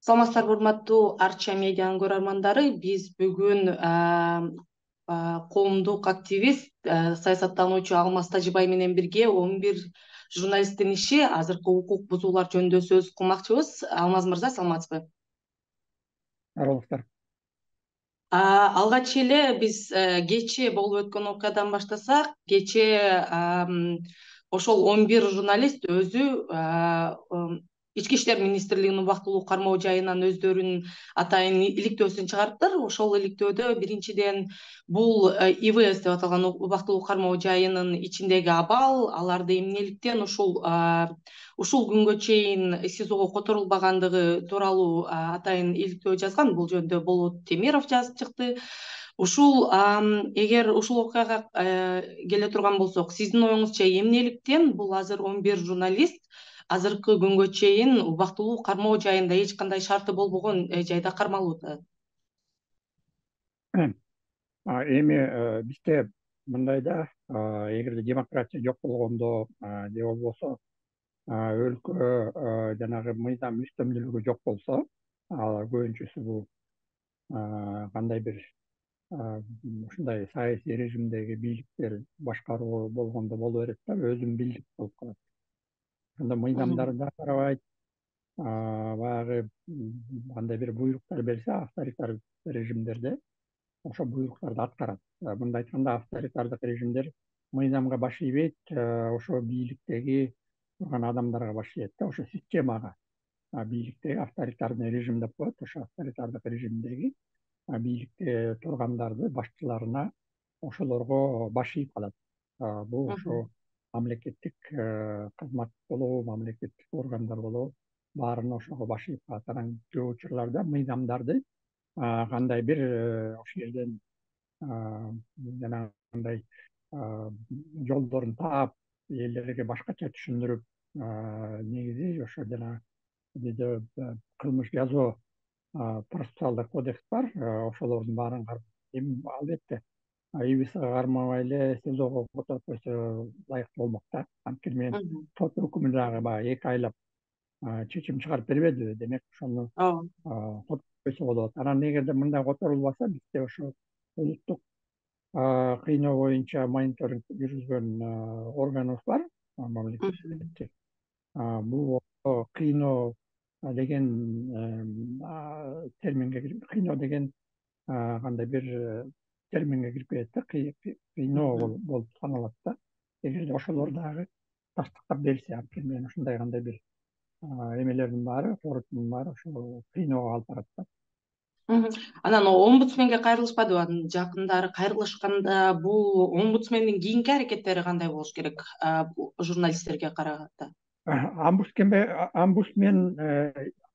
Саламатсыздарбы, урматтуу Арча медианын көрөрмандары. Биз бүгүн коомдук активист, саясаттануучу Алмаз Тажибай менен бирге 11 журналисттин иши, азыркы укук бузуулар жөнүндө сөз кылмакчыбыз. Алмаз мырза, саламатсызбы? Аралыктар. Алгач эле биз кечээ болуп өткөн окуядан баштасак, кечээ ошол 11 журналист өзү Ички иштер министрлигинин убактылуу кармоо жайынан өздөрүнүн атайын иликтөөсүн чыгарыптыр. Ошол иликтөөдө биринчиден бул ИВС деп аталган убактылуу кармоо жайынын ичиндеги абал, аларды эмнеликтен ушул күнгө чейин СИЗОго которулбагандыгы тууралуу атайын иликтөө жазган. Бул жөнүндө Болот Темиров жазып чыкты. Эгер ушул окуяга келе турган болсок, сиздин оюңузча эмнеликтен бул азыр 11 журналист азыркы күнгө чейин убактылуу кармоо жайында эч кандай шарты болбогон жайда кармалууда? Эми бизде мындай да, эгерде демократия жок болгондо же болбосо өлкө жанагы мыйзам үстөмдүүлүгү жок болсо, ал көбүнчөсү бул кандай бир ушундай саясий режимдеги бийликтер башкаруу болгондо боло берет да, өзүн билдик болуп калат. Анда мыйзамдарды да карабайт, баягы кандай бир буйруктар берсе авторитар режимдерде ошо буйруктарды аткарат. Мындай айтканда, авторитардык режимдер мыйзамга баш ийбейт, ошо бийликтеги турган адамдарга баш ийет да, ошо системага. Бийликтеги авторитарный режим деп коет, ошо авторитардык режимдеги бийликте тургандарды башчыларына, ошолорго баш ийип калат. Бул ошо мамлекеттик кызмат болобу, мамлекеттик органдар болобу, баарына ошого баш ийип калат. Анан көп учурларда мыйзамдарды кандай бир ошол жерден жанагындай жолдорун таап, элдерге башкача түшүндүрүп, негизи ошо жанагы бизде кылмыш жазуу процессуалдык кодекс бар, ошолордун баарын карап. Эми албетте ИВСга кармабай эле СИЗОго которуп койсо ылайыктуу болмок да. Анткени менен сот өкүмү дагы баягы 2 айлап чечим чыгарып бербедиби, демек ошону которуп койсо болот. Анан эгерде мындай которулбаса, бизде ошо улуттук кыйноо боюнча мониторинг жүргүзгөн органыбыз бар, мамлекеттик. Бул кыйноо деген терминге кыйноо деген кандай бир терминге кирип кетет да, кыйноо болуп саналат да. Эгерде ошолор дагы тастыктап берсе, анткени менен ушундай кандай бир эмелердин баары, корутундун баары ошо кыйноого алып барат да. Анан омбудсменге кайрылышпадыбы? Анын жакындары кайрылышканда бул омбудсмендин кийинки аракеттери кандай болуш керек журналисттерге караганда? Омбудсмен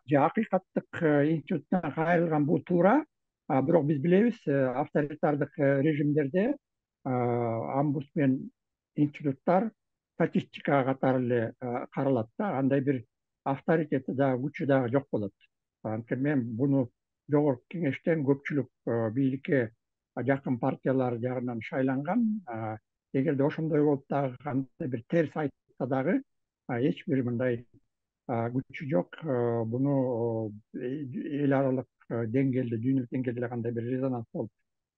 же акыйкаттык институтуна кайрылган бул туура, бирок биз билебиз, авторитардык режимдерде омбудсмен институттар статистика катары эле каралат да, андай бир авторитети дагы күчү дагы жок болот. Анткени менен буну жогорку кеңештен көпчүлүк бийликке жакын партиялар жагынан шайланган. Эгерде ошондой болуп дагы кандай бир терс айтса дагы эч бир мындай күчү жок. Буну эл аралык деңгээлде, дүйнөлүк деңгээлде эле кандай бир резонанс болуп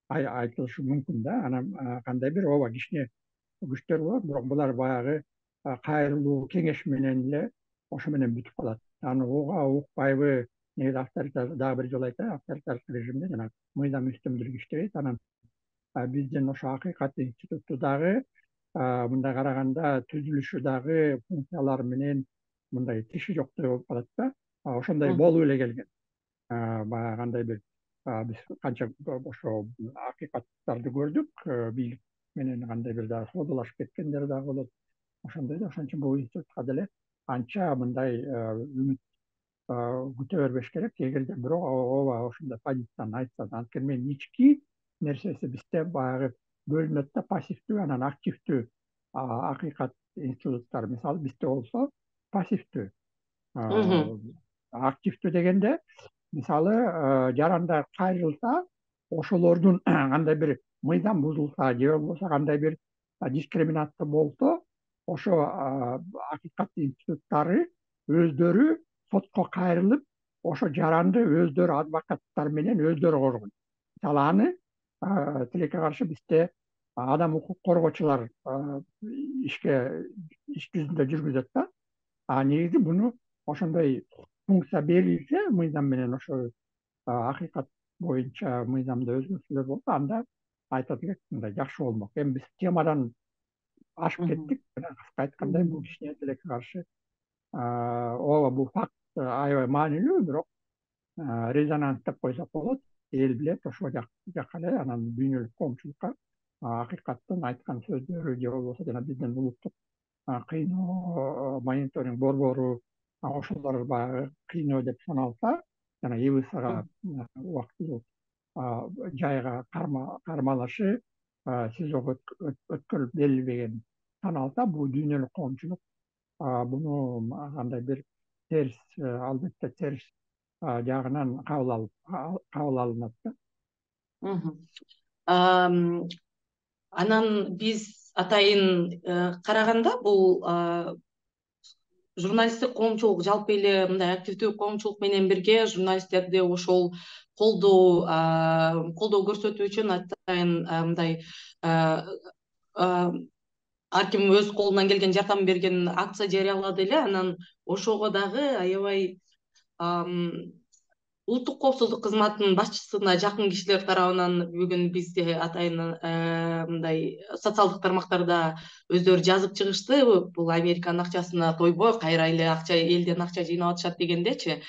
айтылышы мүмкүн да. Анан кандай бир ооба кичине күчтөр болот, бирок булар баягы кайрылуу кеңеш менен эле ошо менен бүтүп калат. Аны уга укпайбы, негизи авторитар, дагы бир жолу айтайын, авторитардык режимде жана мыйзам үстөмдүүлүгү иштебейт. Анан биздин ошо акыйкат институту дагы мындай караганда түзүлүшү дагы функциялары менен мындай тиши жоктой болуп калат да. Ошондой болуп эле келген. Баягы кандай бир биз канча ошо акыйкаттарды көрдүк, бийлик менен кандай бир дагы соодалашып кеткендер дагы болот. Ошондой да, ошон үчүн бул институтка деле анча мындай үмүт күтө бербеш керек. Эгерде бирок ооба ошондой позицияны айтса, анткени менен ички нерсеси бизде баягы бөлүнөт да, пассивдүү анан активдүү акыйкат институттары. Мисалы бизде болсо пассивдүү. Активдүү дегенде, мисалы жарандар кайрылса, ошолордун кандай бир мыйзам бузулса же болбосо кандай бир дискриминация болсо, ошо акыйкат институттары өздөрү сотко кайрылып, ошо жаранды өздөрү адвокаттар менен өздөрү коргон. Мисалы аны тилекке каршы бизде адам укук коргоочулар иш жүзүндө жүргүзөт да. Негизи буну ошондой функция берилсе мыйзам менен, ошо акыйкат боюнча мыйзамда өзгөртүүлөр болсо, анда айтат элек мындай жакшы болмок. Эми биз темадан ашып кеттик. Кыска айтканда, бул кичине тилекке каршы ооба бул факт аябай маанилүү, бирок резонанс деп койсок болот. Эл билет, ошого жакка эле анан дүйнөлүк коомчулукка акыйкаттын айткан сөздөрү же болбосо жана биздин улуттук кыйноо мониторинг борбору ошолор баягы кыйноо деп саналса, жана ИВСга убактылуу жайга кармалышы СИЗОго өткөрүлүп берилбеген саналса, бул дүйнөлүк коомчулук буну кандай бир терс, албетте терс жагынан кабыл алынат да. Анан биз атайын караганда бул журналисттик коомчулук жалпы эле мындай активдүү коомчулук менен бирге журналисттерди ошол колдоо көрсөтүү үчүн атайын мындай ар ким өз колунан келген жардам берген акция жарыялады эле. Анан ошого дагы аябай улуттук коопсуздук кызматынын башчысына жакын кишилер тарабынан бүгүн бизде атайын мындай социалдык тармактарда өздөрү жазып чыгышты. Бул Американын акчасына тойбой, кайра эле элден акча жыйнап атышат дегендечи.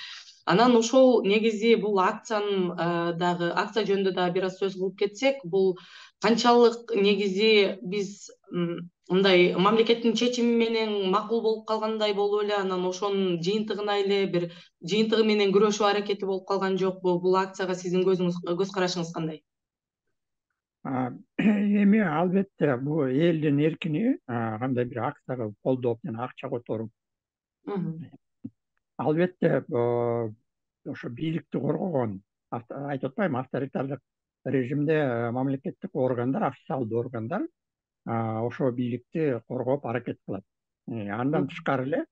Анан ошол негизи бул акциянын дагы акция жөнүндө дагы бир аз сөз кылып кетсек, бул канчалык негизи биз мындай мамлекеттин чечими менен макул болуп калгандай болуп эле, анан ошонун жыйынтыгына эле бир жыйынтыгы менен күрөшүү аракети болуп калган жокпу? Бул акцияга сиздин көз карашыңыз кандай? Эми албетте бул элдин эркини кандай бир акцияга колдоп жана акча которуп, албетте ошо бийликти коргогон, айтып атпаймынбы, авторитардык режимде мамлекеттик органдар, официалдуу органдар ошо бийликти коргоп аракет кылат. Андан тышкары эле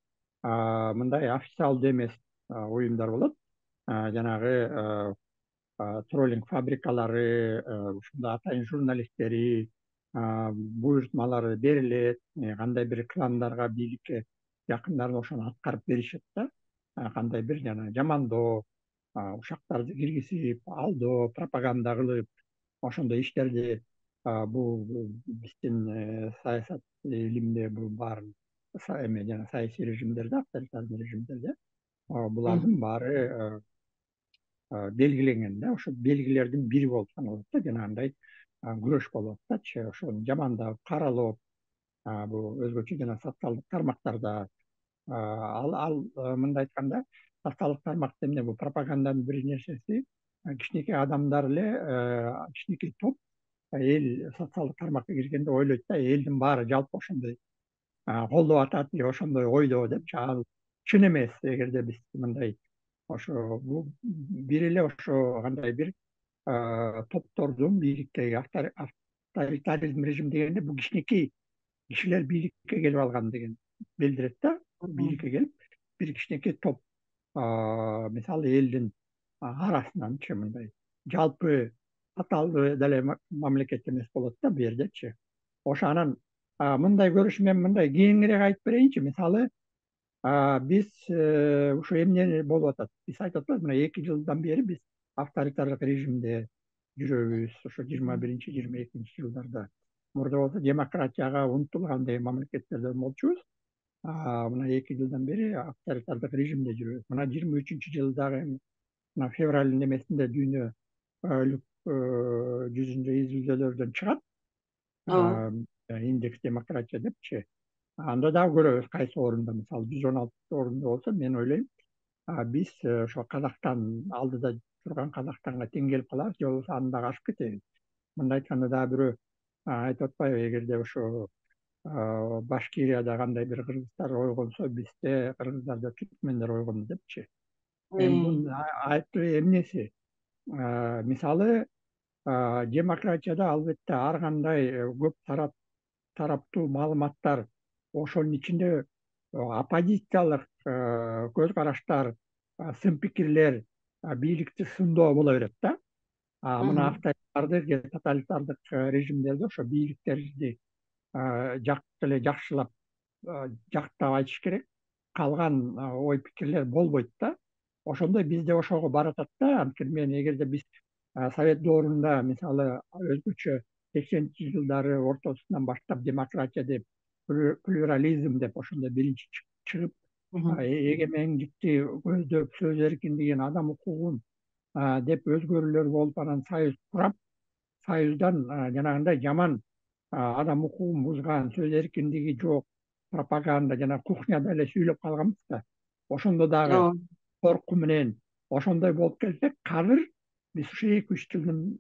мындай официалдуу эмес уюмдар болот. Жанагы троллинг фабрикалары, ушундай атайын журналисттери буйртмалары берилет, кандай бир кландарга, бийликке жакындары ошону аткарып беришет да. Кандай бир жана жамандоо, ушактарды киргизип, алдоо, пропаганда кылып, ошондой иштерди бул биздин саясат илиминде бул баарын эме жана саясий режимдерде, авторитарный режимдерде булардын баары белгиленген да. Ошо белгилердин бири болуп саналат да, жанагындай күрөш болуп атпайчы, ошону жамандап, каралоо, бул өзгөчө жана социалдык тармактарда ал мындай айтканда, социалдык тармакта эмне, бул пропаганданын бир нерсеси, кичинекей адамдар эле, кичинекей топ эл социалдык тармакка киргенде ойлойт да, элдин баары жалпы ошондой колдоп атат же ошондой ойдо депчи. Ал чын эмес. Эгерде биз мындай ошо бул бир эле ошо кандай бир топтордун бийликтеги авторитаризм режим дегенде бул кичинекей кишилер бийликке келип алган деген билдирет да. Бийликке келип бир кичинекей топ, мисалы элдин арасынанчы мындай жалпы каталдуу деле мамлекет эмес болот да бу жердечи. Ошо анан мындай көрүш, мен мындай кеңирээк айтып берейинчи. Мисалы биз ушу эмне болуп атат? Биз айтып атпайбызбы, мына 2 жылдан бери биз авторитардык режимде жүрөбүз. Ошо 21-22 жылдарда мурда болсо демократияга умтулган деген мамлекеттерден болчубуз. Мына 2 жылдан бери авторитардык режимде жүрөбүз. Мына 23-жылдагы мына февралдын эмесинде дүйнөлүк жүзүндө изилдөөлөрдөн чыгат. Индекс демократия депчи. Анда дагы көрөбүз кайсы орунда. Мисалы 116 орунда болсо, мен ойлойм биз ошо Казакстан алдыда турган Казакстанга тең келип калабыз, же болбосо аны дагы ашып кетебиз. Мындай айтканда дагы бирөө айтып атпайбы, эгерде ошо Башкирияда кандай бир кыргыздар ойгонсо, бизде кыргыздарда түркмендер ойгонду депчи. Эми бунун айыптуу эмнеси? Мисалы демократияда албетте ар кандай көп тараптуу маалыматтар, ошонун ичинде оппозициялык көз караштар сын пикирлер бийликти сындоо боло берет да. Мына авторитардык, тоталитардык режимдерде ошо бийликтерди эле жакшылап жактап айтыш керек. Калган ой пикирлер болбойт да. Ошондой бизде ошого баратат да. Анткени эгерде биз совет доорунда мисалы өзгөчө 80 жылдары ортосунан баштап демократия деп, плюрализм деп ошондой биринчи чыгып, эгемендикти көздөп, сөз эркиндигин, адам укугун деп өзгөрүүлөр болуп, анан союз курап, союздан жанагындай жаман адам укугун бузган, сөз эркиндиги жок, пропаганда жана кухняда эле сүйлөп калганбыз да. Ошондо дагы корку менен ошондой болуп келсек, азыр биз ушу 2-3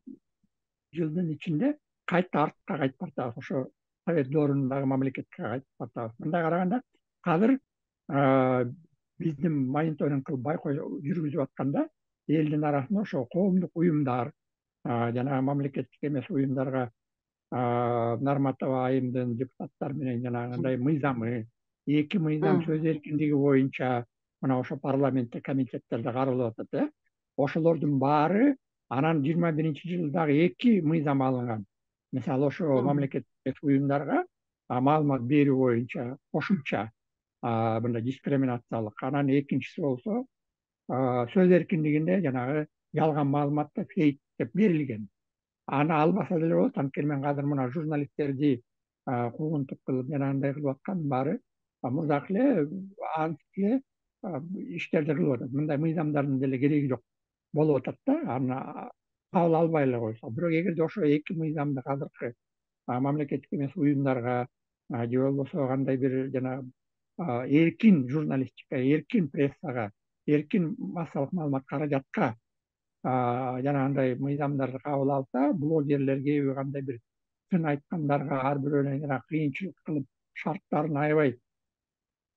жылдын ичинде кайта артка кайтып баратабыз. Ошо совет доорунундагы мамлекетке кайтып баратабыз. Мындай караганда азыр биздин мониторинг кылып байкоо жүргүзүп атканда элдин арасында ошо коомдук уюмдар, жанагы мамлекеттик эмес уюмдарга Нарматова айымдын депутаттар менен жанагындай мыйзамы, 2 мыйзам сөз эркиндиги боюнча мына ошо парламентте комитеттерде каралып атат. Ошолордун баары анан 21-жылы дагы 2 мыйзам алынган. Мисалы ошо мамлекеттик уюмдарга маалымат берүү боюнча кошумча мындай дискриминациялык. Анан экинчиси болсо сөз эркиндигинде жанагы жалган маалыматты фейк деп берилген. Аны албаса деле болот. Анткени мен азыр мына журналисттерди куугунтук кылып жанагындай кылып аткандын баары мурдак эле антип эле иштерди кылып атат. Мындай мыйзамдардын деле кереги жок болуп атат да. Аны кабыл албай эле койсо. Бирок эгерде ошо 2 мыйзамды азыркы мамлекеттик эмес уюмдарга же болбосо кандай бир жанагы эркин журналистика, эркин прессага, эркин массалык маалымат каражатка жанагындай мыйзамдарды кабыл алса, блогерлерге кандай бир сын айткандарга ар бирөөнө жана кыйынчылык кылып, шарттарын аябай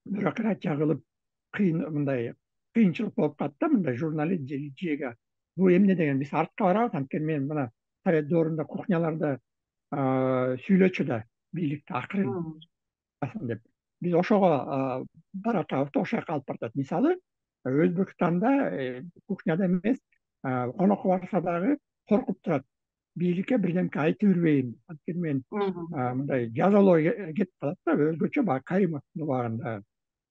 бюрократия кылып, мындай кыйынчылык болуп калат да, мындай журналист жеге. Бул эмне деген? Биз артка барабыз. Анткени мен мына совет доорунда кухняларда сүйлөчү да бийликти акырын деп. Биз ошого баратабыз да, ошол жака алып баратат. Мисалы, Өзбекстанда кухняда эмес, конокко барса дагы коркуп турат. Бийликке бирдемке айтып бербейм. Анткени мен мындай жазалоо кетип калат да, өзгөчө баягы Каримовдун убагында.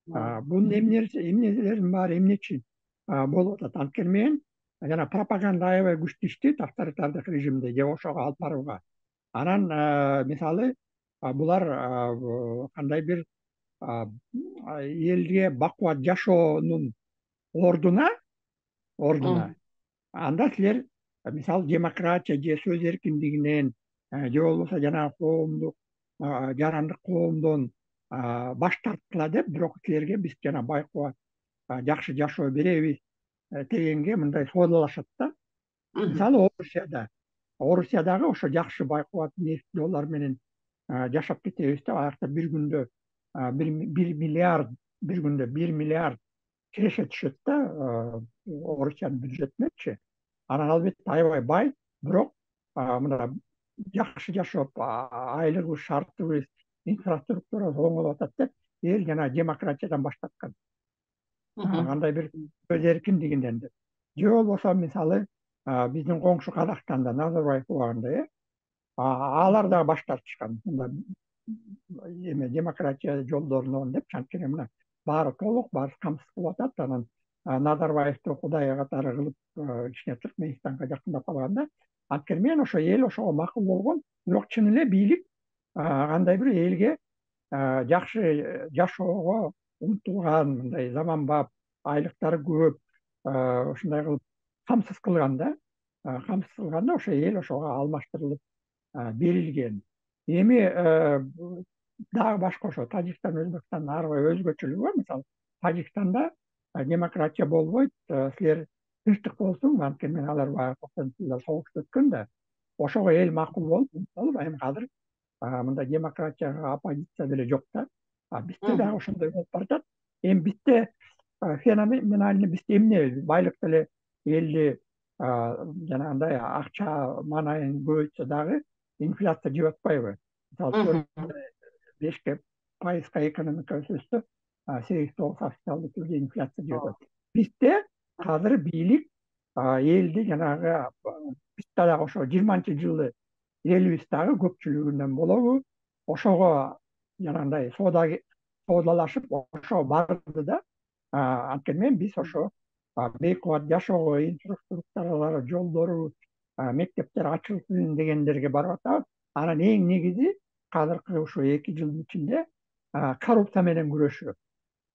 Бунун эмнелердин баары эмне үчүн болуп атат? Анткени мен жана пропаганда аябай күчтүү иштейт авторитардык режимде же ошого алып барууга. Анан мисалы булар кандай бир элге бакубат жашоонун ордуна анда силер мисалы демократия же сөз эркиндигинен же болбосо жанагы коомдук жарандык коомдон баш тарткыла деп, бирок силерге биз жана байкубат жакшы жашоо беребиз дегенге мындай соодалашат да. Мисалы Орусиядагы ошо жакшы байкубат ниеттүү олар менен жашап кетебиз деп, аякта бир күндө 1 миллиард киреше түшөт да Орусиянын бюджетинечи. Анан албетте аябай бай, бирок мына жакшы жашоп, айлыгыбыз, шартыбыз, инфраструктурабыз оңолуп атат деп эл жана демократиядан баш тарткан. Кандай бир сөз эркиндигинен деп. Же болбосо мисалы биздин коңшу Казакстанда Назарбаев убагында алар да баш тартышкан. Эме демократия жолдорунан деп, анткени мына баары толук, баары камсыз кылып атат. Анан Назарбаевди Кудай катары кылып кичине Түркменистанга жакындап калганда, анткени мен ошо эл ошого макул болгон, бирок чын эле бийлик кандай бир элге жакшы жашоого умтулган, мындай заманбап, айлыктары көп, ушундай кылып камсыз кылганда ошо эл ошого алмаштырылып берилген. Эми дагы башка ошо Тажикстан, Өзбекстандын ар бир өзгөчөлүгү бар. Мисалы, Тажикстанда демократия болбойт, силер тынчтык болсун, анткени мен алар баягы 90-жылдар согуш өткөн да, ошого эл макул болуп, эми азыр мындай демократияга оппозиция деле жок да. Бизде дагы ошондой болуп баратат. Эми бизде феноменально бизде эмне? Байлык деле элди жанагындай акча маанайын көбөйтсө дагы инфляция жеп атпайбы? Мисалы, 5% экономика өсөсө, 8-9 официалдуу түрдө инфляция жеп атат. Бизде азыр бийлик элди жанагы биз дагы ошо 20-жылы элибиз дагы көпчүлүгүнөн болобу ошого жанагындай соодалашып ошого барды да анткени менен биз ошо бейик убакыт жашоого инфраструктуралары жолдору мектептер ачылсын дегендерге барып атабыз. Анан эң негизи азыркы ушу 2 жылдын ичинде коррупция менен күрөшүү.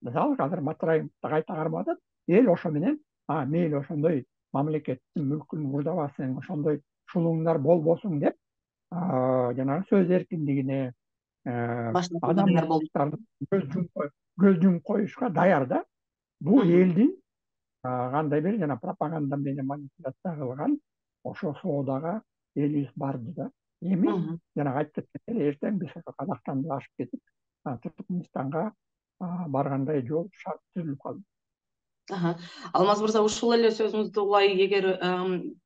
Мисалы азыр Матраимов да кайта кармап атат. Эл ошо менен мейли ошондой мамлекеттин мүлкүн мурдабасын, ошондой шулууңдар болбосун деп жанагы сөз эркиндигине Башташууга даяр болду. адамдардын көз жумуп коюшка даяр да. Бул элдин кандай бир жана пропаганда менен манипуляция кылган ошо соодага элибиз барды да. Эми жанагы айтып кеткендей эле эртең биз ошо Казакстанды ашып кетип Туркменистанга баргандай жол шарт түзүлүп калды. Алмаз мырза, ушул эле сөзүңүздү улай эгер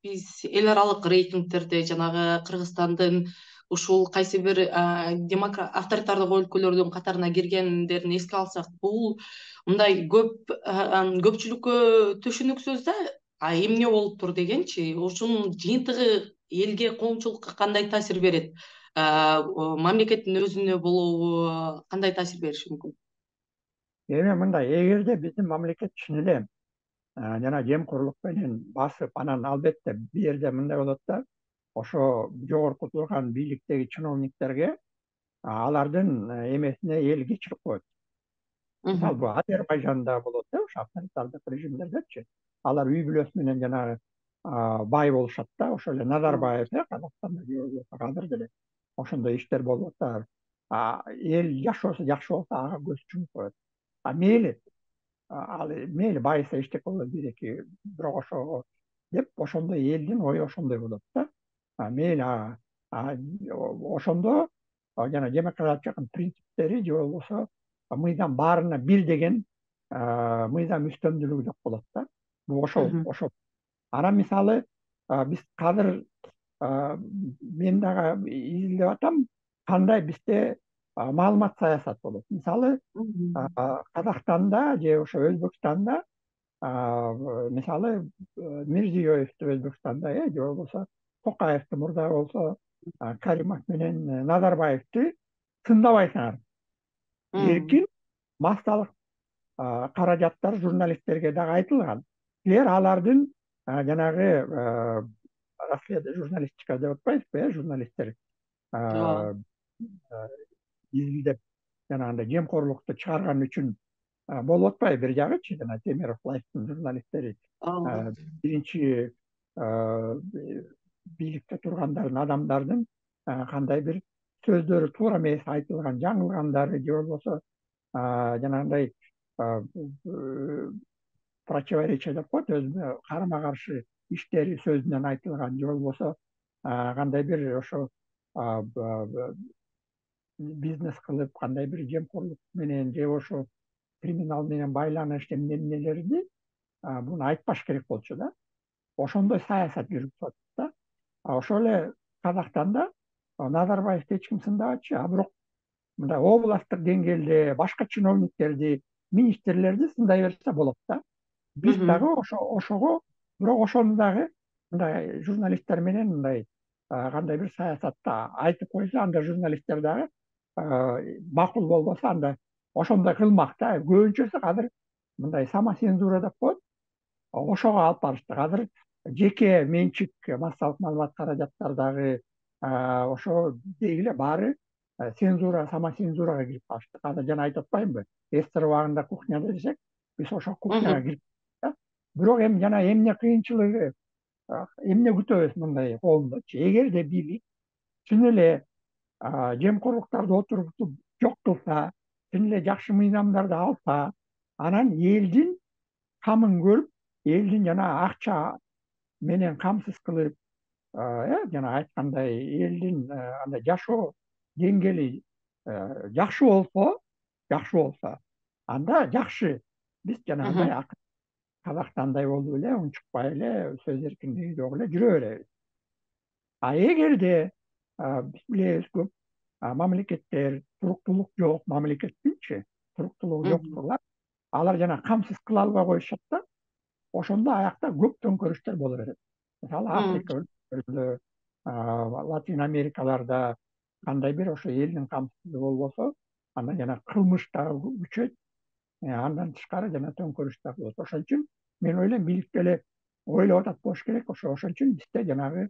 биз эл аралык рейтингтерде жанагы Кыргызстандын ушул кайсы бир авторитардык өлкөлөрдүн катарына киргендерин эске алсак, бул мындай көпчүлүккө түшүнүксүз да, эмне болуптур дегенчи, ушунун жыйынтыгы элге, коомчулукка кандай таасир берет? Мамлекеттин өзүнө болобу, кандай таасир бериши мүмкүн? Эми мындай, эгерде биздин мамлекет чын эле жана жемкорлук менен басып, анан албетте бул жерде мындай болот да, ошо жогорку турган бийликтеги чиновниктерге алардын эмесине эл кечирип коет. Мисалы бул Азербайжанда болот да, ошо авторитардык режимдердечи. Алар үй бүлөсү менен жанагы бай болушат да, ошо эле Назарбаев Казакстанда азыр деле ошондой иштер болуп атат. Эл жашоосу жакшы болсо ага көз жумуп коет. Мейли мейли байыса эчтеке болот бирок ошого деп ошондой элдин ою ошондой болот да. Мейли ошондо жана демократиянын принциптери же болбосо мыйзам баарына бир деген мыйзам үстөмдүүлүгү жок болот да. Бул ошо. Анан мисалы биз азыр мен дагы изилдеп атам кандай бизде маалымат саясат болот. Мисалы Казакстанда же ошо Өзбекстанда мисалы Мирзиёевди Өзбекстанда же болбосо Токаевди мурда болсо Каримов менен Назарбаевди тындабайсыңар. Эркин массалык каражаттар журналисттерге дагы айтылган. Силер алардын жанагы журналистика деп атпайсызбы, журналисттер изилдеп жанагындай жемкорлукту чыгарган үчүн болуп атпайбы бир жагычы, жана Темиров Лайфтын журналисттери биринчи бийликте тургандардын адамдардын кандай бир сөздөрү туура эмес айтылган, жаңылгандары же болбосо жанагындай противоречие деп коет, өзүнө карама каршы иштери сөзүнөн айтылган же болбосо кандай бир ошо бизнес кылып кандай бир жемкорлук менен же ошо криминал менен байланыш эмнелерди буну айтпаш керек болчу да. Ошондой саясат жүрүп атат да. Ошол эле Казакстанда Назарбаевди эч ким сындабачы, бирок мындай областтык деңгээлде башка чиновниктерди, министрлерди сындай берсе болот да. Биз дагы ошого, бирок ошону дагы мындай журналисттер менен мындай кандай бир саясатта айтып койсо, анда журналисттер дагы макул болбосо анда ошондой кылмак да. Көбүнчөсү азыр мындай самоцензура деп коет. Ошого алып барыштык. Азыр жеке менчик массалык маалымат каражаттардагы ошо деги эле баары самоцензурага кирип калыштык. Азыр жана айтып атпаймынбы? Эстер убагында кухняда десек, биз ошо кухняга кирип да. Бирок эми жана эмне кыйынчылыгы, эмне күтөбүз мындай коомдочу? Эгерде бийлик чын эле жемкорлуктарды отургузуп жок кылса, чын эле жакшы мыйзамдарды алса, анан элдин камын көрүп, элдин жана акча менен камсыз кылып, жана айткандай элдин андай жашоо деңгээли жакшы болсо, анда жакшы. Биз жанагындай Казакстандай болуп эле унчукпай эле сөз эркиндиги жок эле жүрө беребиз. Эгерде биз билебиз көп мамлекеттер туруктуулук жок мамлекеттинчи, туруктуулугу жоктурлар, алар жана камсыз кыла албай коюшат да. ошондо аякта көп төңкөрүштөр боло берет. Мисалы Африка өлкөлөрүндө, Латин Америкаларда кандай бир ошо элдин камсыздыгы болбосо, андан жана кылмыш дагы күчөйт. Андан тышкары жана төңкөрүш да болот. Ошон үчүн мен ойлойм бийлик деле ойлоп атат болуш керек. Ошон үчүн бизде жанагы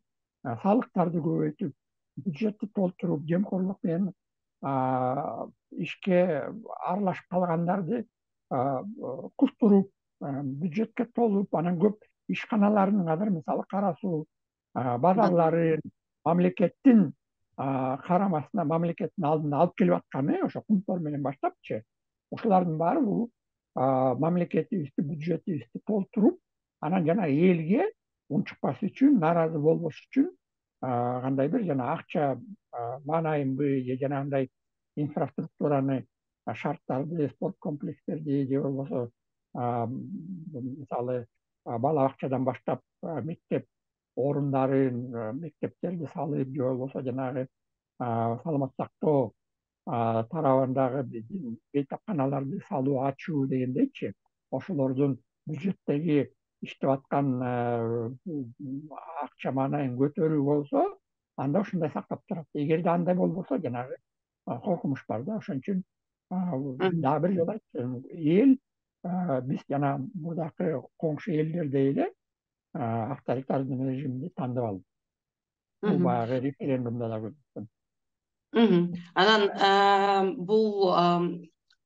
салыктарды көбөйтүп, бюджетти толтуруп, жемкорлук менен ишке аралашып калгандарды куштуруп, бюджетке толуп, анан көп ишканалардын азыр мисалы Кара Суу базарларын мамлекеттин карамасына, мамлекеттин алдына алып келип атканы ошо кумтор менен баштапчы, ушулардын баары бул мамлекетибизди, бюджетибизди толтуруп, анан жана элге унчукпас үчүн, нааразы болбош үчүн кандай бир жана акча маанайынбы же жанагындай инфраструктураны, шарттарды, спорт комплекстерди же болбосо мисалы бала бакчадан баштап мектеп орундарын, мектептерди салып же болбосо жанагы саламаттык сактоо тарабындагы биздин бейтапканаларды салуу, ачуу дегендейчи, ошолордун бюджеттеги иштеп аткан акча маанайын көтөрүү болсо, анда ушундай сактап турат. Эгерде андай болбосо, жанагы коркунуч бар да. Ошон үчүн дагы бир жолу айтчу, эл биз жана мурдакы коңшу элдердей эле авторитардын режимди тандап алды. Бул баягы референдумда да көрсөткөн. Анан бул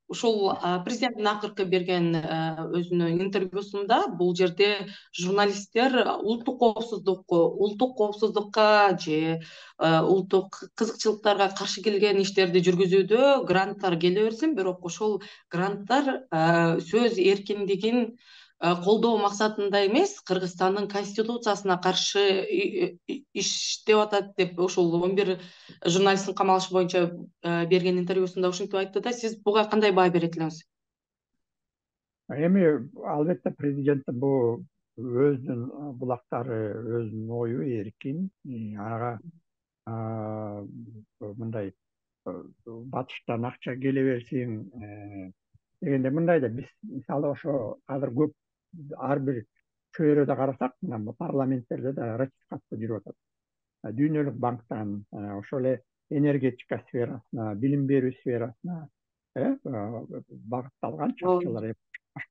ушул президенттин акыркы берген өзүнүн интервьюсунда бул жерде журналисттер улуттук коопсуздукка же улуттук кызыкчылыктарга каршы келген иштерди жүргүзүүдө гранттар келе берсин, бирок ошол гранттар сөз эркиндигин колдоо максатында эмес, Кыргызстандын конституциясына каршы иштеп атат деп ошол 11 журналисттин камалышы боюнча берген интервьюсунда ушинтип айтты да. Сиз буга кандай баа берет элеңиз? Эми албетте президенттин бул өзүнүн булактары, өзүнүн ою эркин, ага мындай батыштан акча келе берсин дегенде, мындай да, биз мисалы ошо азыр көп ар бир чөйрөдө карасак, мына парламенттерде да ратификация жүрүп атат. Дүйнөлүк банктан, ошол эле энергетика сферасына, билим берүү сферасына багытталганчы акчалар,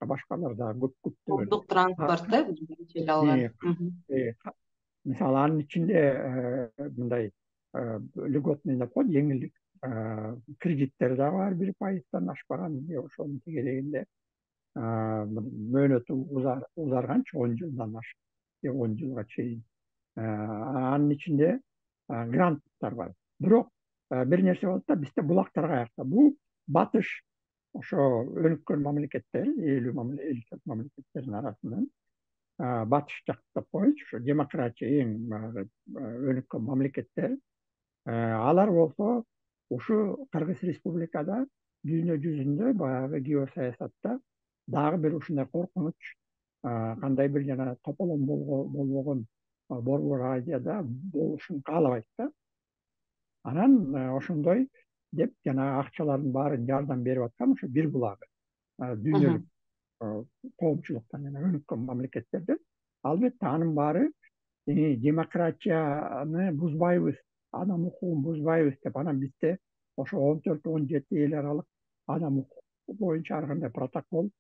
башкалар да көптөгөн. Коомдук транспорт Мисалы анын ичинде мындай льготный деп коет, жеңилдик кредиттер дагы бар, 1% ашпаган, ошонун тегерегинде мөөнөтү узарганчы 10 жылдан ашык, 10 жылга чейин. Анын ичинде гранттар бар. Бирок бир нерсе болот да, бизде булактар каякта? Бул батыш, ошо өнүккөн мамлекеттер, 50 мамлекеттердин арасынан батыш жак деп коелучу, ошо демократия эң өнүккөн мамлекеттер. Алар болсо ушу Кыргыз Республикада дүйнө жүзүндө баягы геосаясатта дагы бир ушундай коркунуч, кандай бир жана тополом болбогон Борбор Азияда болушун каалабайт да. Анан ошондой деп жана акчалардын баарын жардам берип аткан ошо бир булагы дүйнөлүк коомчулуктан жана өнүккөн мамлекеттерден. Албетте анын баары демократияны бузбайбыз, адам укугун бузбайбыз деп, анан бизде ошо 14-17 эл аралык адам укугу боюнча ар кандай протокол,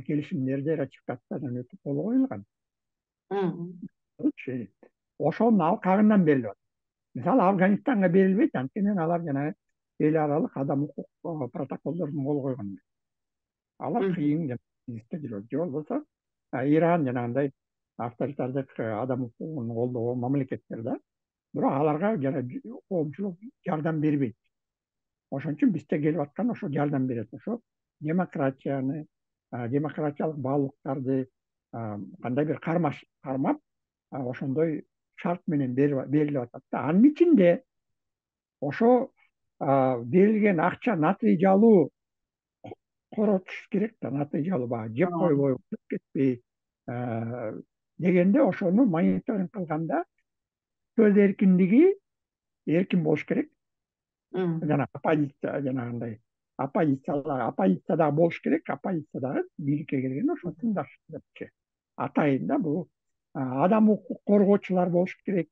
келишимдерди ратификациядан өтүп кол коюлган. Ошонун алкагынан берилип атат. Мисалы Афганистанга берилбейт, анткени алар жана эл аралык адам укук протоколдоруна кол койгон. Алар кыйын жүрөт. Же болбосо Иран жанагындай авторитардык адам укугун колдогон мамлекеттер да, бирок аларга жана коомчулук жардам бербейт. Ошон үчүн бизде келип аткан ошо жардам берет. Ошо демократияны, демократиялык баалуулуктарды кандай бир кармап, ошондой шарт менен берилип атат да. Анын ичинде ошо берилген акча натыйжалуу коротуш керек да, натыйжалуу баягы жеп койбой, кетпей дегенде ошону мониторинг кылганда сөз эркиндиги эркин болуш керек. Жана оппозиция, жанагындай оппозиция дагы болуш керек. Оппозиция дагы бийликке келгенде ошону тыңдаш депчи. атайын да, бул адам укук коргоочулар болуш керек,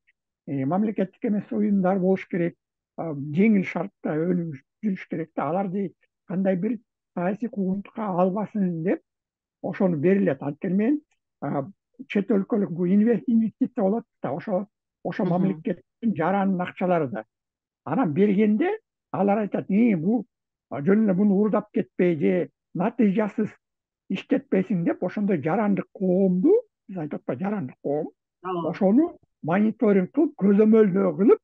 мамлекеттик эмес уюмдар болуш керек, жеңил шартта өнүгүп жүрүш керек да, аларды кандай бир саясий куугунтукка албасын деп ошону берилет. Анткени мен чет өлкөлүк бул инвестиция болот да, ошо мамлекеттин жаранын акчалары да. Анан бергенде алар айтат, бул жөн эле буну уурдап кетпей же натыйжасыз иштетпесин деп, ошондой жарандык коомду, биз айтып атпайбы, жарандык коом, ошону мониторинг кылып, көзөмөлдөө кылып,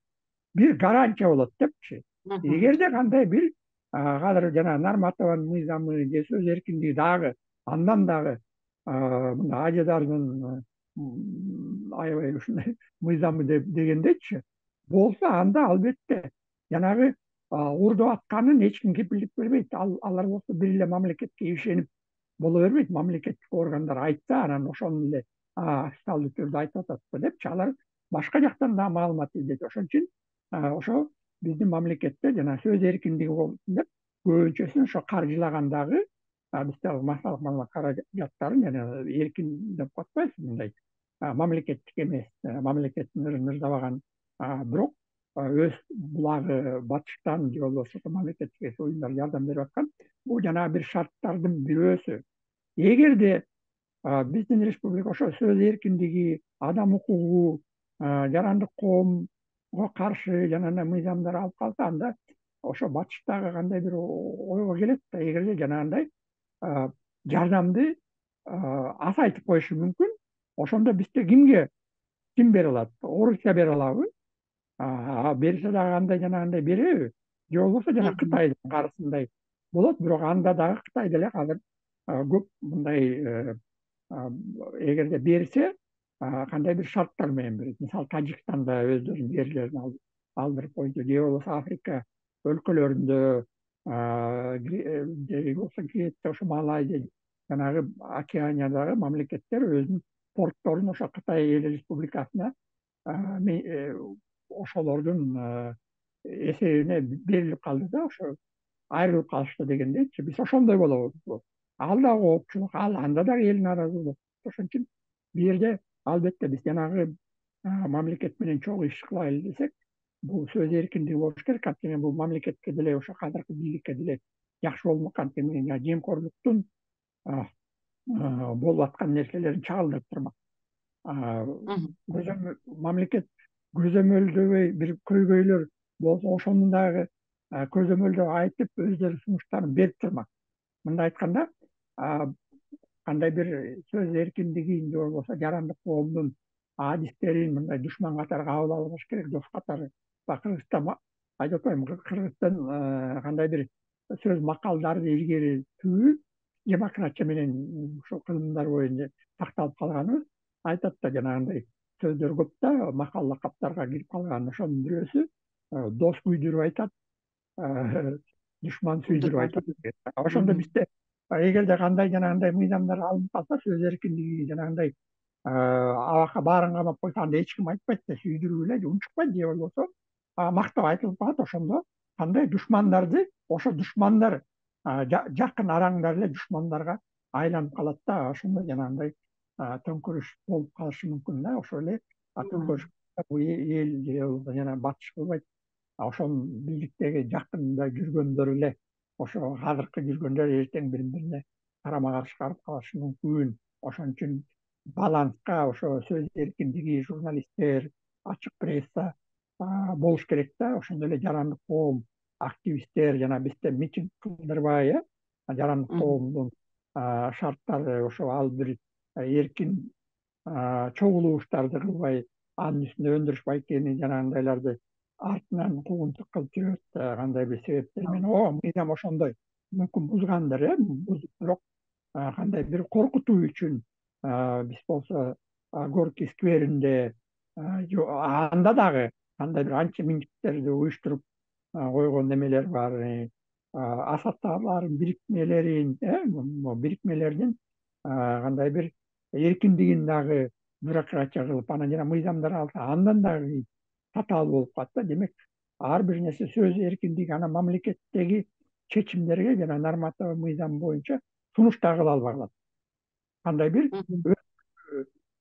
бир гарантия болот депчи. Эгерде кандай бир азыр жана Нарматованын мыйзамы же сөз эркиндиги дагы андан дагы мына ажыдардын аябай ушундай мыйзамы дегендечи болсо, анда албетте жанагы уурдап атканын эч ким кепилдик бербейт. Алар болсо бир эле мамлекетке ишенип боло бербейт. Мамлекеттик органдар айтса, анан ошону эле официалдуу түрдө айтып атат депчи. Алар башка жактан дагы маалымат издейт. Ошон үчүн ошо биздин мамлекетте жана сөз эркиндиги болсун деп көбүнчөсүн ошо каржылагандагы бизде массалык маалымат каражаттарын жана эркин деп коюп атпайбызбы, мындай мамлекеттик эмес, мамлекеттин ырдабаган, бирок өз булагы батыштан же болбосо мамлекеттик уюмдар жардам берип аткан, бул жанагы бир шарттардын бирөөсү. Эгерде биздин республика ошо сөз эркиндиги, адам укугу, жарандык коомго каршы жанагындай мыйзамдар алып калса, анда ошо батыштагы кандай бир ойго келет да, эгерде жанагындай жардамды азайтып коюшу мүмкүн. Ошондо бизде ким бере алат? Орусия бере алабы? Берсе дагы кандай жанагындай береби? Же болбосо жана Кытайдын каршысындай болот, бирок анда дагы Кытай деле азыр көп мындай, эгерде берсе, кандай бир шарттар менен берет. Мисалы, Тажикстанда өздөрүнүн жерлерин алдырып койду, же болбосо Африка өлкөлөрүндө, же болбосо Греция, ошо Малайзия, жанагы Океаниядагы мамлекеттер өзүнүн портторун ошо Кытай эл республикасына ошолордун эсебине берилип калды да, ошо айрылып калышты дегендейчи. Биз ошондой болобуз. Ал да коопчулук, анда дагы эл нааразы болот. Ошон үчүн бул жерде албетте биз жанагы мамлекет менен чогуу иш кылайлы десек, бул сөз эркиндиги болуш керек. Анткени бул мамлекетке деле, ошо азыркы бийликке деле жакшы болмок. Анткени жемкорлуктун болуп аткан нерселерин чагылдырып турмак. Мамлекет көзөмөлдөбөй бир көйгөйлөр болсо, ошону дагы көзөмөлдөп айтып, өздөрү сунуштарын берип турмак. Мындай айтканда, кандай бир сөз эркиндигин же болбосо жарандык коомдун адистерин мындай душман катары кабыл албаш керек, дос катары. Кыргызстан айтып атпаймынбы, Кыргызстан кандай бир сөз макалдарды илгеритүү демократия менен ушул кылымдар боюнча сакталып калганыбыз айтат да, жанагындай сөздөр көп да, макал лакаптарга кирип калган. Ошонун бирөөсү дос күйдүрүп айтат, душман сүйдүрүп айтат. Ошондо бизде эгерде кандай жанагындай мыйзамдар алынып калса, сөз эркиндиги жанагындай абакка баарын камап койсо, анда эч ким айтпайт да, сүйдүрүп эле унчукпайт, же болбосо мактап айтылып калат. Ошондо кандай душмандарды, ошо душмандар жакын араңдар эле душмандарга айланып калат да, ошондо жанагындай төңкөрүш болуп калышы мүмкүн да. Ошо эле төңкөрүш бул эл же болбосо жана батыш кылбайт. Ошонун бийликтеги жакында жүргөндөр эле, ошо азыркы жүргөндөр эртең бири бирине карама каршы барып калышы мүмкүн. Ошон үчүн баланска ошо сөз эркиндиги, журналисттер, ачык пресса болуш керек да. Ошондой эле жарандык коом, активисттер, жана бизде митинг кылдырбай, жарандык коомдун шарттары, ошо ал бир эркин чогулуштарды кылбай, анын үстүнө өндүрүш байкени жанагындайларды артынан куугунтук кылып жүрөт, кандай бир себептер менен. Мыйзам ошондой, мүмкүн бузгандыр, бирок кандай бир коркутуу үчүн биз болсо Горький скверинде анда дагы кандай бир анча-мынчектерди уюштуруп койгон немелер бар. Асаттаарлардын бирикмелердин кандай бир эркиндигин дагы бюрократия кылып, анан жана мыйзамдар алса, андан дагы татаал болуп калат да. Демек, ар бир нерсе сөз эркиндиги, анан мамлекеттеги чечимдерге жана Нарматова мыйзам боюнча сунуш да кыла албай калат. Кандай бир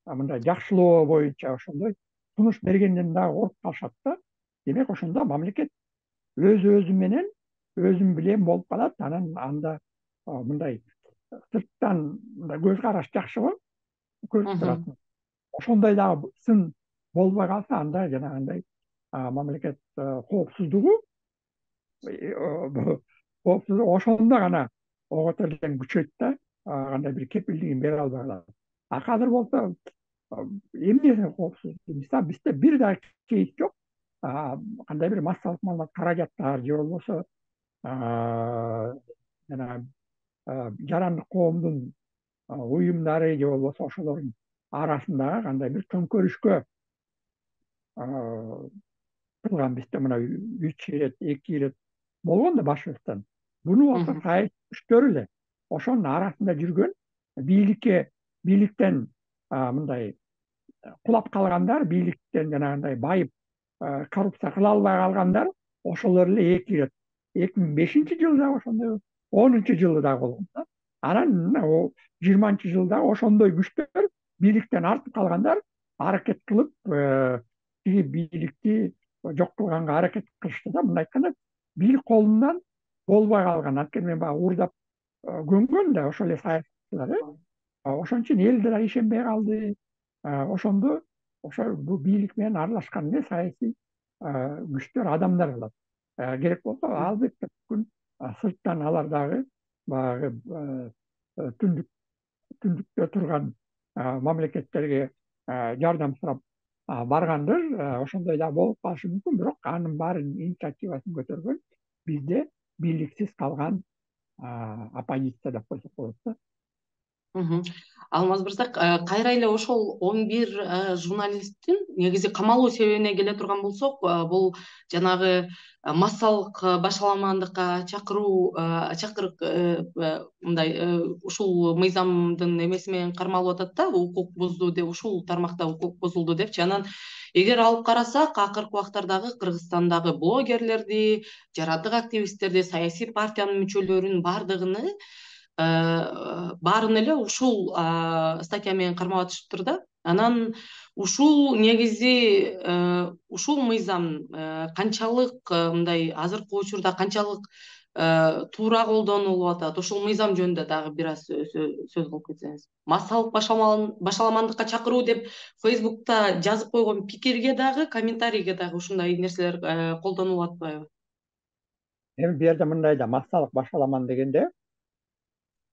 мындай жакшылоо боюнча ошондой сунуш бергенден дагы кооруп калышат да. Демек ошондо мамлекет өзү менен өзүм билем болуп калат. Анан анда мындай сырттан мындай көз караш жакшыбы көрүп турат. Ошондой дагы сын болбой калса, анда жанагындай мамлекет коопсуздугу ошондо гана ого тең күчөйт да, кандай бир кепилдигин бере албай калат. Азыр болсо эмне коопсуздук? Мисалы бизде бир да кейс жок. Кандай бир массалык маалымат каражаттар же болбосо жана жарандык коомдун уюмдары же болбосо ошолордун арасындагы кандай бир төңкөрүшкө кылган бизде мына 3 ирет 2 ирет болгон да башыбыздан. Буну болсо саясий күчтөр эле ошонун арасында жүргөн бийликтен мындай кулап калгандар, бийликтен жанагындай байып коррупция кыла албай калгандар ошолор эле 2 ирет 2005-жылы ошондой 10-жылы дагы болгон да. Анан 20-жылда ошондой күчтөр бийликтен артып калгандар аракет кылып тиги бийликти жок кылганга аракет кылышты да. Мындай айтканда бийлик колунан болбой калган. Анткени мен баягы уурдап көнгөн да ошол эле саясатчылар. Ошон үчүн эл да ишенбей калды. Ошондо ошо бул бийлик менен аралашкан эле саясий күчтөр, адамдар кылат. Керек болсо албетте бүткүл сырттан алар дагы баягы түндүктө турган мамлекеттерге жардам сурап баргандыр. Ошондой да болуп калышы мүмкүн, бирок анын баарынын инициативасын көтөргөн бизде бийликсиз калган оппозиция деп койсок болот да. Алмаз мырза, кайра эле ошол 11 журналисттин негизи камалуу себебине келе турган болсок, бул жанагы массалык башаламандыкка чакырык мындай ушул мыйзамдын эмеси менен кармалып атат да, укук бузду деп, ушул тармакта укук бузулду депчи. Анан эгер алып карасак, акыркы убактардагы Кыргызстандагы блогерлерди, жарандык активисттерди, саясий партиянын мүчөлөрүнүн баарын эле ушул статья менен кармап атышыптыр да. Анан ушул негизи ушул мыйзам канчалык мындай азыркы учурда канчалык туура колдонулуп атат? Ушул мыйзам жөнүндө дагы бир аз сөз кылып кетсеңиз. Массалык башаламандыкка чакыруу деп Facebook'та жазып койгон пикирге дагы, комментарийге дагы ушундай нерселер колдонулуп атпайбы? Эми бу жерде мындай да массалык башаламан дегенде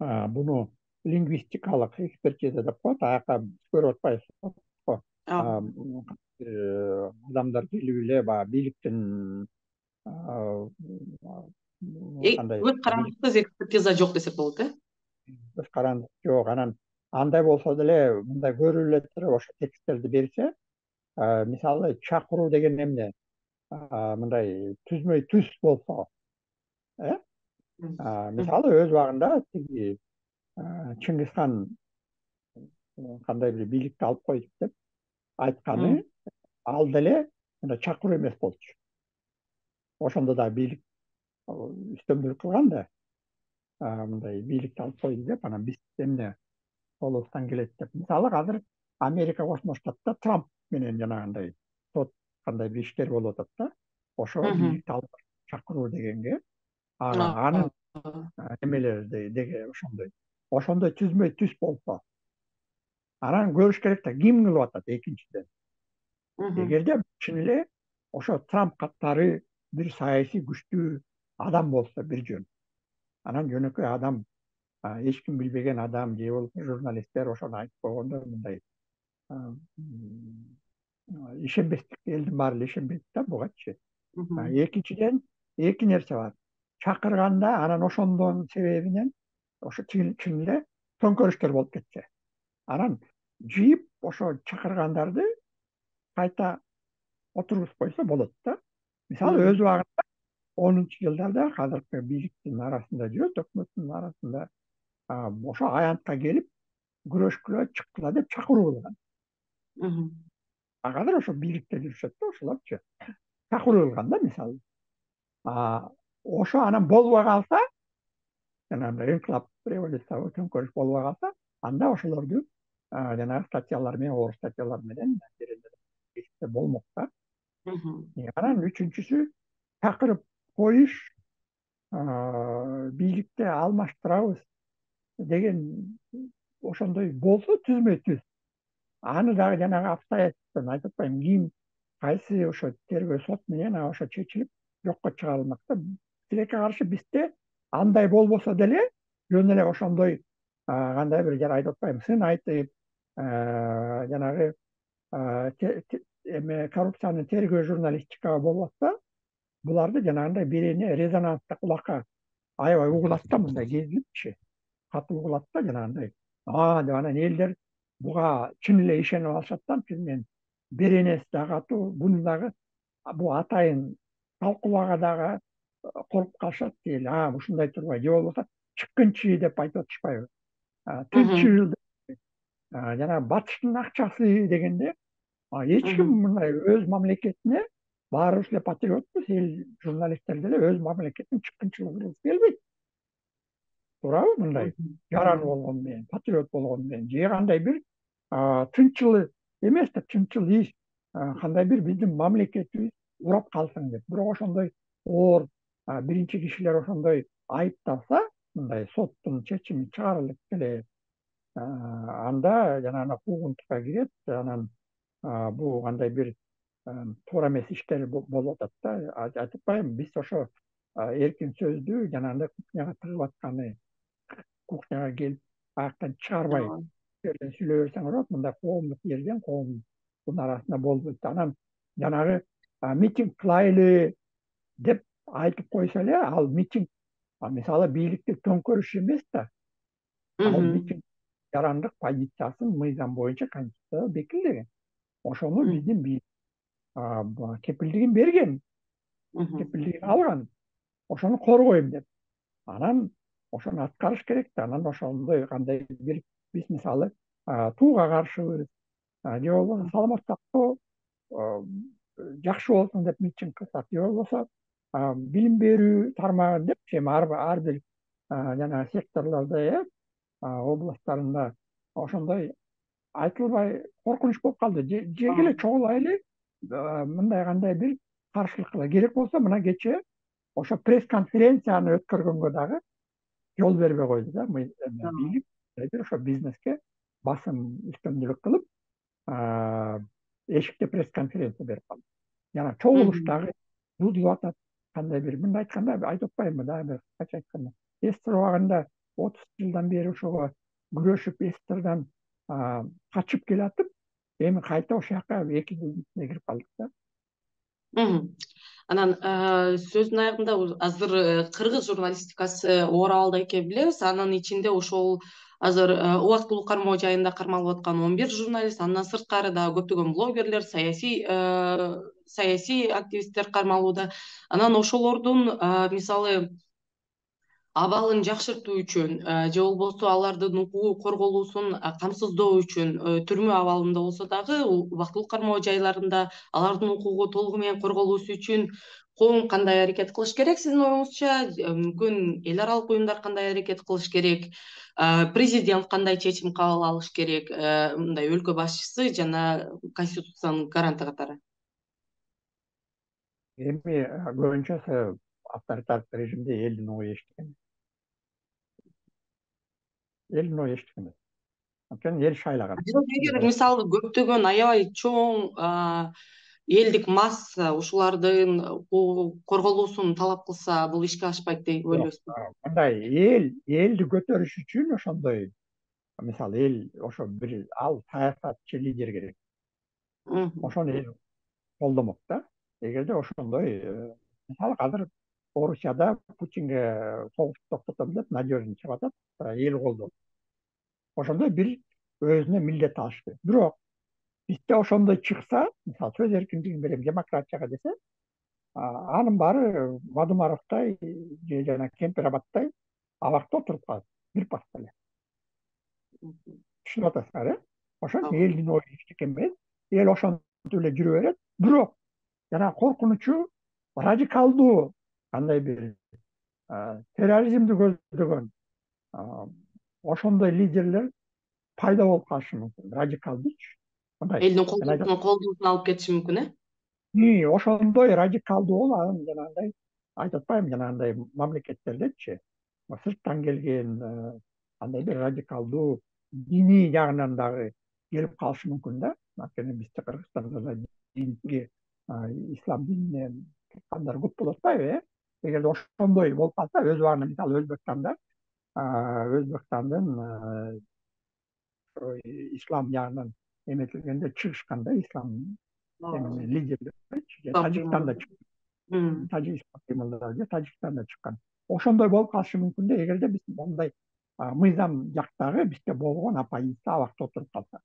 буну лингвистикалык экспертиза деп коет. Аяка көрүп атпайсызбы? Адамдар келип эле баягы бийликтин кандай Көз карандысыз экспертиза жок десек болот, көз карандык жок. Анан андай болсо деле мындай көрүлүп эле туруп ошо тексттерди берсе, мисалы чакыруу деген эмне? Мындай түзмөй түз болсо, мисалы өз убагында тиги Чыңгыз хан кандай бир бийликти алып койдук деп айтканы ал деле мындай чакыруу эмес болчу. Ошондо да бийлик үстөмдүк кылган да, мындай бийликти алып койду деп, анан биз эмне колубуздан келет деп. Мисалы азыр Америка Кошмо Штатта Трамп менен жанагындай сот кандай бир иштер болуп атат да. Ошо бийликти алып чакыруу дегенге анын эмелери деге ошондой түзмөй түз болсо, анан көрүш керек да ким кылып атат экинчиден. Эгерде чын эле ошо Трамп катары бир саясий күчтүү адам болсо бир жөн. Анан жөнөкөй адам, эч ким билбеген адам же болбосо журналисттер ошону айтып койгондо мындай ишенбестик, элдин баары эле ишенбейт да бугачы. Экинчиден эки нерсе бар. Чакырганда анан ошондон себебинен ошо чын эле төңкөрүштөр болуп кетсе, анан жыйып ошо чакыргандарды кайта отургузуп койсо болот да. Мисалы өз убагында 10-жылдарда азыркы бийликтин арасында жүрөт, өкмөттүн арасында ошо аянтка келип күрөшкүлө чыккыла деп чакыруу кылган. Азыр ошо бийликте жүрүшөт да ошолорчу. Чакыруу кылган да мисалы. Ошо анан болбой калса, жанагындай инкылап, революция, төңкөрүш болбой калса, анда ошолорду жанагы статьялар менен, оор статьялар менен болмок да. Анан үчүнчүсү чакырып коюш, бийликти алмаштырабыз деген ошондой болсо түзмө-түз. Аны дагы жанагы обстоятельствону айтып атпаймынбы, кийин кайсы ошо тергөө сот менен ошо чечилип жокко чыгарылмак да. Тилекке каршы бизде андай болбосо деле жөн эле ошондой кандай бир жана айтып атпаймынбы, сын айтып жанагы эме коррупцияны тергөө журналистикага болуп атса, буларды жанагындай бирине резонанстык кулакка аябай угулат да, мындай кезилипчи катуу угулат да, жанагындай деп анан элдер буга чын эле ишенип алышат да. Анткени беренеси да катуу, буну дагы бул атайын талкуулоого дагы коркуп калышат. Ушундай турбайбы, же болбосо чыккынчы деп айтып атышпайбы, тынчыл, жанагы батыштын акчасы дегенде, эч ким мындай өз мамлекетине, баарыбыз эле патриотпуз, эл журналисттер деле өз мамлекетинин чыккынчылыгын кылгысы келбейт. Туурабы? Мындай жаран болгону менен, патриот болгону менен, же кандай бир тынчыл эмес да, тынчыл иш, кандай бир биздин мамлекетибиз урап калсын деп. Бирок ошондой оор биринчи кишилер ошондой айыпталса, мындай соттун чечими чыгарылып эле, анда жанагы куугунтукка кирет. Анан бул кандай бир туура эмес иштер болуп атат да. Айтып атпаймынбы, биз ошо эркин сөздү жанагындай кухняга тыгып атканы, кухняга келип аяктан чыгарбай жерден сүйлөй берсең болот. Мындай коомдук жерден коомдун арасында болбойт. Анан жанагы митинг кылайлы деп айтып койсо эле, ал митинг мисалы бийликти төңкөрүш эмес да. Ал митинг жарандык позициясын мыйзам боюнча конституцияда бекитилген. Ошону биздин бийлик кепилдигин берген, кепилдигин алган. Ошону коргойм деп. Анан ошону аткарыш керек да. Анан ошондой кандай бир биз мисалы тууга каршыбыз, же болбосо саламатта калуу жакшы болсун деп митинг кылсак, же болбосо билим берүү тармагын депчи, эми ар бир жанагы секторлордо, областтарында ошондой айтылбай коркунуч болуп калды. Жерге эле чогулайлы, мындай кандай бир каршылык кыла. Керек болсо мына кечээ ошо пресс-конференцияны өткөргөнгө дагы жол бербей койду да. Бийлик ошо бизнеске басым үстөмдүлүк кылып, эшикте пресс-конференция берип калды. Жана чогулуш дагы бузулуп атат. Кандай бир мындай айтканда айтып атпаймынбы, дагы бир кача айтканда, СССР убагында 30 жылдан бери ошого күрөшүп, СССРдан качып келатып, эми кайта ошол жака 2 жыл ичинде кирип калдык да. Анан сөздүн аягында азыр кыргыз журналистикасы оор абалда экенин билебиз. Анын ичинде ошол азыр убактылуу кармоо жайында кармалып аткан 11 журналист, андан сырткары дагы көптөгөн блогерлер, саясий активисттер кармалууда. Анан ошолордун мисалы абалын жакшыртуу үчүн же болбосо алардын укугу корголуусун камсыздоо үчүн түрмө абалында болсо дагы убактылуу кармоо жайларында алардын укугу толугу менен корголуусу үчүн коом кандай аракет кылыш керек сиздин оюңузча? Мүмкүн эл аралык уюмдар кандай аракет кылыш керек? Президент кандай чечим кабыл алыш керек? Мындай өлкө башчысы жана конституциянын гаранты катары. Эми көбүнчө авторитардык режимде элдин ою эчтекен. Элдин ою эчтекен. Анткени эл шайлаган. Эгер мисалы көптөгөн аябай чоң элдик масса ушулардын корголуусун талап кылса, бул ишке ашпайт деп ойлойсузбу? Мындай элди көтөрүш үчүн ошондой, мисалы эл ошо бир саясатчы лидер керек. Ошону эл колдомок да. Эгерде ошондой, мисалы азыр Орусияда Путинге согушту токтотом деп надежный чыгып атат, эл колдоп. Ошондой бир өзүнө милдет алыш керек. Бирок бизде ошондой чыкса, мисалы сөз эркиндигин берем, демократияга десе, анын баары Бадымаровдой же жана Кемпир-Абадтай абакта отуруп калат, бир паста эле. Түшүнүп атасыңар, ошон элдин ою эчтеке эмес, эл ошентип эле жүрө берет. Бирок жана коркунучу радикалдуу кандай бир терроризмди көздөгөн ошондой лидерлер пайда болуп калышы мүмкүн, радикалдычы. Мындай элдин мен айтам, колдорусуна алып кетиши мүмкүн, э? ошондой радикалдуу болуп анан жанагындай айтып атпаймынбы, жанагындай мамлекеттердечи сырттан келген андай бир радикалдуу диний жагынан дагы келип калышы мүмкүн да. Анткени бизде Кыргызстанда да динге, ислам динине чыккандар көп болуп атпайбы, э? Эгерде ошондой болуп калса, өз убагында мисалы Өзбекстандын ислам жагынан эметилгенде чыгышканда, ислам Ооба. лидерлери Ислам Тажикстанда кыймылы. Тажикстанда чыккан. Ошондой болуп калышы мүмкүн да, эгерде биз мондай мыйзам жактагы бизде болгон оппозиция абакта отуруп калса.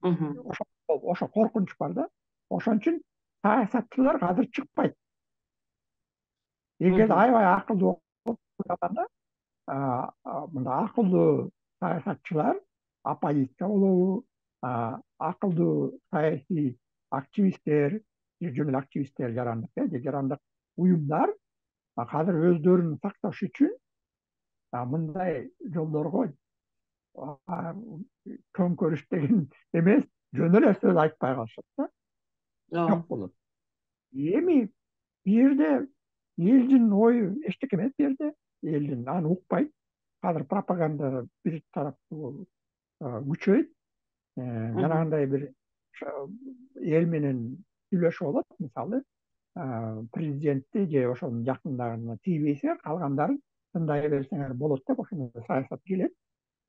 Ошо коркунуч бар да. Ошон үчүн саясатчылар азыр чыкпайт. Эгерде аябай акылдуу болгондо, мындай акылдуу саясатчылар, оппозиция болобу, акылдуу саясий активисттер, жөн эле активисттер, жарандык уюмдар азыр өздөрүн сакташ үчүн мындай жолдорго төңкөрүш деген эмес, жөн эле сөз айтпай калышат да, жок болот. Эми бу жерде элдин ою эчтеке эмес, бу жерде элдин аны укпайт. Азыр пропаганда бир тараптуу күчөйт. Жанагындай бир эл менен сүйлөшүп алат, мисалы президентти же ошонун жакындарына тийбейсиңер, калгандарын тындай берсеңер болот деп ошондой саясат келет.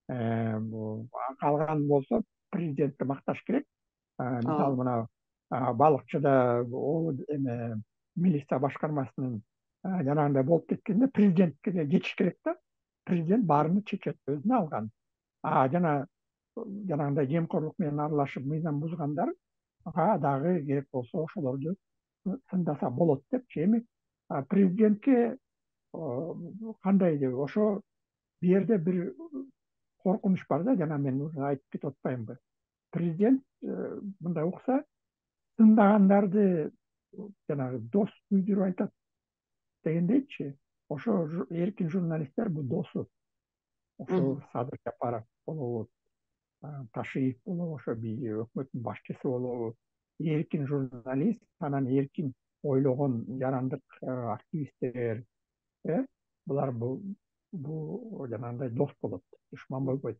Калган болсо президентти макташ керек. Мисалы мына балыкчыда эме милиция башкармасынын жанагындай болуп кеткенде президентке жетиш керек да. Президент баарыны чечет, өзүнө алган. Жанагындай жемкорлук менен аралашып мыйзам бузгандарга дагы керек болсо ошолорду тыңдаса болот депчи. Эми президентке кандай деп, ошо бу жерде бир коркунуч бар да, жана мен уже айтып кетип атпаймынбы. Президент мындай укса, тыңдагандарды жанагы дос күйдүрүп айтат дегендейчи. Ошо эркин журналисттер бул досу. Ошо Садыр Жапаров болобу, Ташиев болобу, ошо өкмөттүн башчысы болобу, эркин журналист, анан эркин ойлогон жарандык активисттер, булар бул жанагындай дос болот, душман болбойт.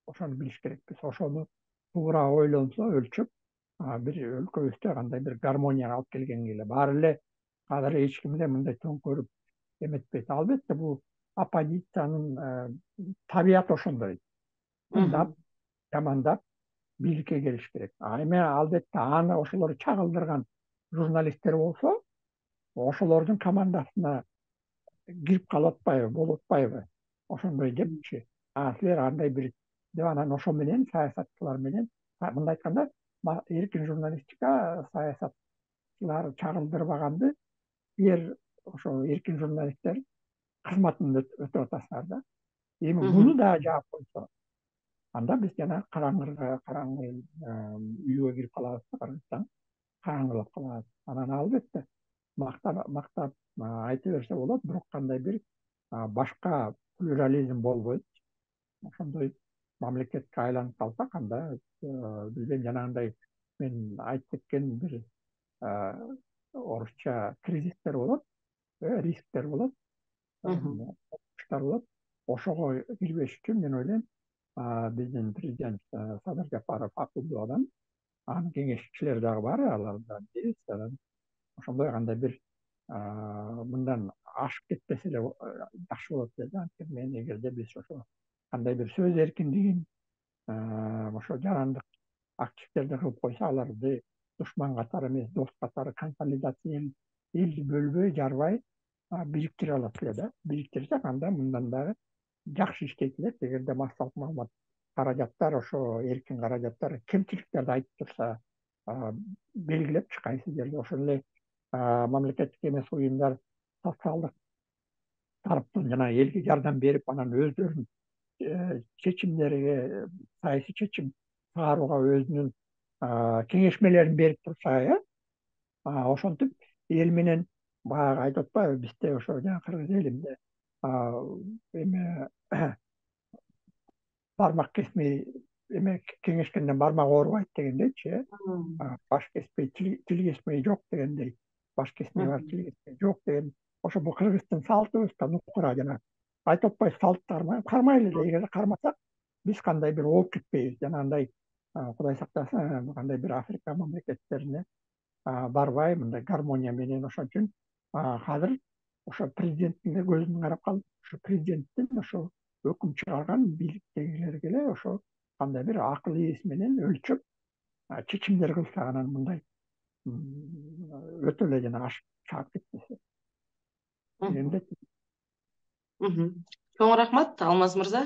Ошону билиш керекпиз. Ошону туура ойлонсо, өлчөп, бир өлкөбүздө кандай бир гармонияга алып келгенге эле. Баары эле азыр эч кимде мындай төңкөрүп эметпейт. Албетте бул оппозициянын табияты ошондой. Тыңдап, жамандап, бийликке келиш керек. Эми албетте аны ошолор чагылдырган журналисттер болсо, ошолордун командасына кирип калып атпайбы, болуп атпайбы? Ошондой депчи. Силер андай бир деп анан ошо менен саясатчылар менен, мындай айтканда, эркин журналистика саясатчылар чагылдырбаганды силер ошо эркин журналисттер кызматын өтөп атасыңар да. Эми муну да жаап койсо, анда биз жана караңгы үйгө кирип калабыз да, Кыргызстан караңгылап калат. Анан албетте мактап айта берсе болот, бирок кандай бир башка плюрализм болбойт. Ошондой мамлекетке айланып калсак, анда бизден жанагындай мен айтып кеткен бир орусча кризистер болот, рисктер болот, болот. Ошого кирбеш үчүн мен ойлойм, биздин президент Садыр Жапаров акылдуу адам, анын кеңешчилери дагы бар, алар да биз анан ошондой кандай бир мындан ашып кетпесе эле жакшы болот деп. Анткени мен эгерде биз ошо кандай бир сөз эркиндигин ошо жарандык активисттерди кылып койсо, аларды душман катары эмес, дос катары консолидация, элди бөлбөй, жарбай бириктире алат эле да. Бириктирсек, анда мындан дагы жакшы иштейт элек. Эгерде массалык маалымат каражаттар, ошо эркин каражаттар кемчиликтерди айтып турса, белгилеп кайсы жерде ошол эле мамлекеттик эмес уюмдар социалдык тараптан жана элге жардам берип, анан өздөрүнүн чечимдерге, саясий чечим чыгарууга өзүнүн кеңешмелерин берип турса, ошентип эл менен баягы айтып атпайбы, бизде ошо жана кыргыз элинде эме бармак кесмей эме кеңешкенден бармак оорубайт дегендейчи, баш кеспей тил кеспей жок дегендей, баш кесмей бар тил кеспей жок деген ошо бул кыргыздын салтыбыздан укура жана айтып атпайбы салт кармайлы да, эгер кармасак биз кандай бир ооп кетпейбиз, жанагындай Кудай сактасын кандай бир Африка мамлекеттерине барбай мындай гармония менен. Ошон үчүн азыр ошо президенттин да көзүн карап калып, ошо президенттин ошо өкүм чыгарган бийликтегилерге эле ошо кандай бир акыл ээси менен өлчөп чечимдер кылса анан мындай өтө эле жана ашып чаап кетпесе дегендей. Чоң рахмат, Алмаз мырза.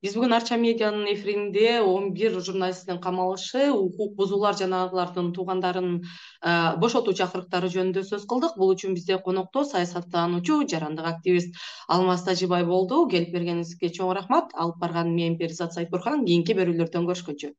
Биз бүгүн Арча медианын эфиринде 11 журналисттин камалышы, укук бузуулар жана алардын туугандарын бошотуу чакырыктары жөнүндө сөз кылдык. Бул үчүн бизде конокто саясаттануучу, жарандык активист Алмаз Тажибай болду. Келип бергениңизге чоң рахмат. Алып барган мен Перизат Сайпурхан. Кийинки берүүлөрдөн көрүшкөнчө.